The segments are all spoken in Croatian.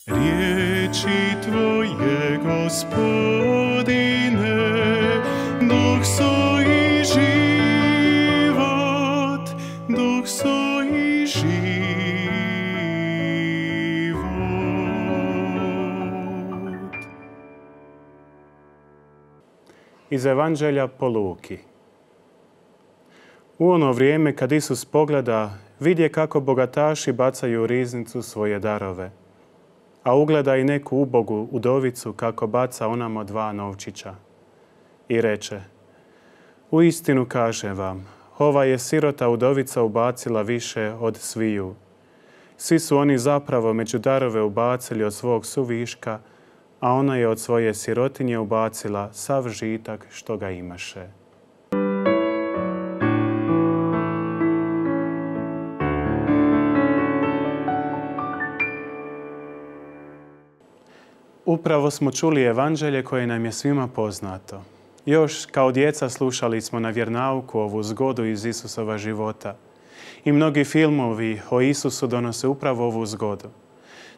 Riječi Tvoje, Gospodine, duh su i život, duh su i život. Iz Evanđelja po Luki. U ono vrijeme kad Isus pogleda, vidje kako bogataši bacaju u riznicu svoje darove, a ugleda i neku ubogu udovicu kako baca onamo 2 novčića. I reče: uistinu kažem vam, ova je sirota udovica ubacila više od sviju. Svi su oni zapravo među darove ubacili od svog suviška, a ona je od svoje sirotinje ubacila sav žitak što ga imaše. Upravo smo čuli evanđelje koje nam je svima poznato. Još kao djeca slušali smo na vjernauku ovu zgodu iz Isusova života. I mnogi filmovi o Isusu donose upravo ovu zgodu.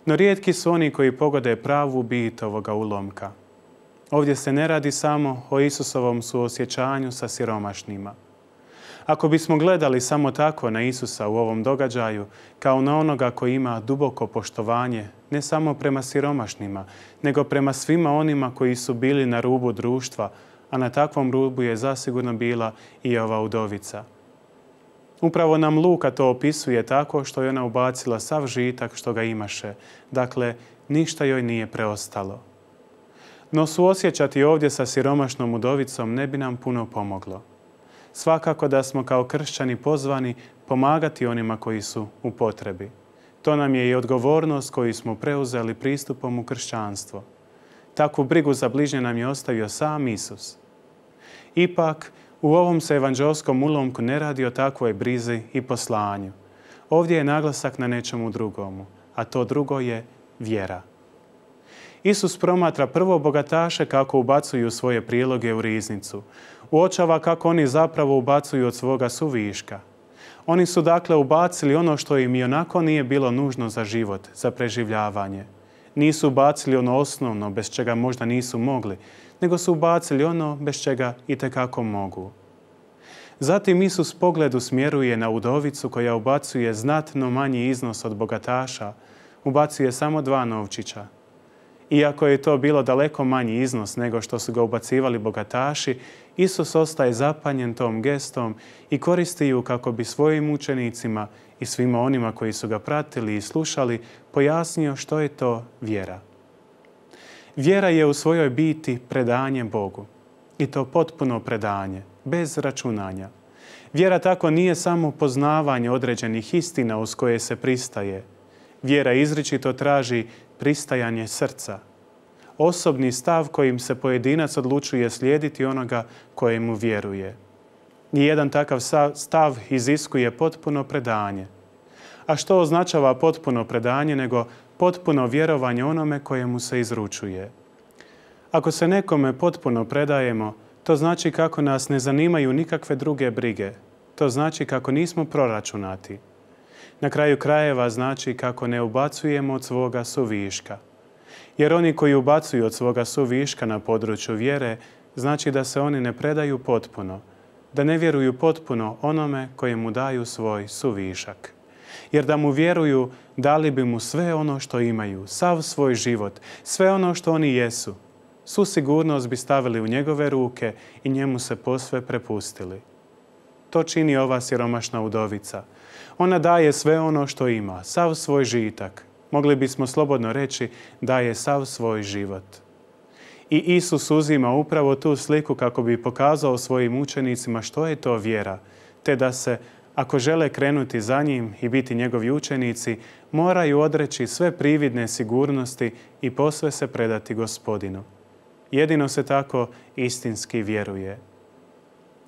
No rijetki su oni koji pogode pravu bit ovoga ulomka. Ovdje se ne radi samo o Isusovom suosjećanju sa siromašnima. Ako bismo gledali samo tako na Isusa u ovom događaju, kao na onoga koji ima duboko poštovanje, ne samo prema siromašnima, nego prema svima onima koji su bili na rubu društva, a na takvom rubu je zasigurno bila i ova udovica. Upravo nam Luka to opisuje tako što je ona ubacila sav žitak što ga imaše, dakle ništa joj nije preostalo. No suosjećati ovdje sa siromašnom udovicom ne bi nam puno pomoglo. Svakako da smo kao kršćani pozvani pomagati onima koji su u potrebi. To nam je i odgovornost koju smo preuzeli pristupom u kršćanstvo. Takvu brigu za bližnje nam je ostavio sam Isus. Ipak, u ovom se evanđelskom ulomku ne radi o takvoj brizi i poslanju. Ovdje je naglasak na nečemu drugomu, a to drugo je vjera. Isus promatra prvo bogataše kako ubacuju svoje priloge u riznicu. Uočava kako oni zapravo ubacuju od svoga suviška. Oni su dakle ubacili ono što im i onako nije bilo nužno za život, za preživljavanje. Nisu ubacili ono osnovno bez čega možda nisu mogli, nego su ubacili ono bez čega itekako mogu. Zatim Isus pogled usmjeruje na udovicu koja ubacuje znatno manji iznos od bogataša, ubacuje samo 2 novčića. Iako je to bilo daleko manji iznos nego što su ga ubacivali bogataši, Isus ostaje zapanjen tom gestom i koristi ju kako bi svojim učenicima i svima onima koji su ga pratili i slušali pojasnio što je to vjera. Vjera je u svojoj biti predanje Bogu. I to potpuno predanje, bez računanja. Vjera tako nije samo poznavanje određenih istina uz koje se pristaje. Vjera izričito traži pristajanje srca. Osobni stav kojim se pojedinac odlučuje slijediti onoga kojemu vjeruje. Nijedan takav stav iziskuje potpuno predanje. A što označava potpuno predanje nego potpuno vjerovanje onome kojemu se izručuje? Ako se nekome potpuno predajemo, to znači kako nas ne zanimaju nikakve druge brige. To znači kako nismo proračunati. Na kraju krajeva znači kako ne ubacujemo od svoga suviška. Jer oni koji ubacuju od svoga suviška na području vjere, znači da se oni ne predaju potpuno, da ne vjeruju potpuno onome kojemu daju svoj suvišak. Jer da mu vjeruju, dali bi mu sve ono što imaju, sav svoj život, sve ono što oni jesu. Svu sigurnost bi stavili u njegove ruke i njemu se posve prepustili. To čini ova siromašna udovica. Ona daje sve ono što ima, sav svoj žitak. Mogli bismo slobodno reći daje sav svoj život. I Isus uzima upravo tu sliku kako bi pokazao svojim učenicima što je to vjera, te da se, ako žele krenuti za njim i biti njegovi učenici, moraju odreći sve prividne sigurnosti i posve se predati Gospodinu. Jedino se tako istinski vjeruje.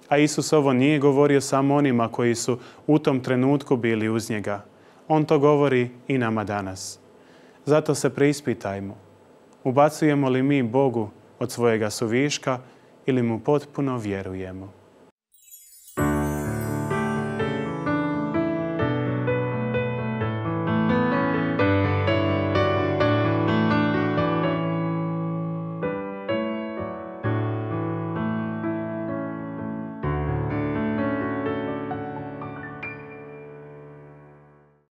A Isus ovo nije govorio samo onima koji su u tom trenutku bili uz njega. On to govori i nama danas. Zato se preispitajmo. Ubacujemo li mi Bogu od svojega suviška ili mu potpuno vjerujemo?